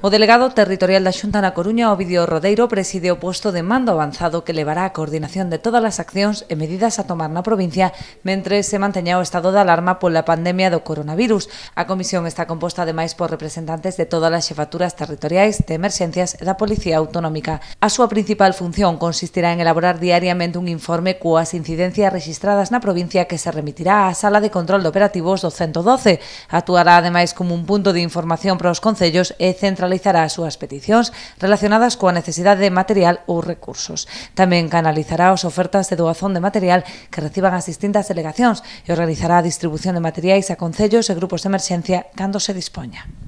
O delegado territorial da Xunta na Coruña, Ovidio Rodeiro, preside o posto de mando avanzado que levará a coordinación de todas as accións e medidas a tomar na provincia mentre se manteña o estado de alarma pola pandemia do coronavirus. A comisión está composta ademais por representantes de todas as xefaturas territoriais de emerxencias e da Policía Autonómica. A súa principal función consistirá en elaborar diariamente un informe coas incidencias rexistradas na provincia que se remitirá á Sala de Control de Operativos do 112. Actuará ademais como un punto de información para os concellos e centralizará as súas peticións relacionadas coa necesidade de material ou recursos. Tamén canalizará as ofertas de doazón de material que reciban as distintas delegacións e organizará a distribución de materiais a concellos e grupos de emerxencia cando se dispoña.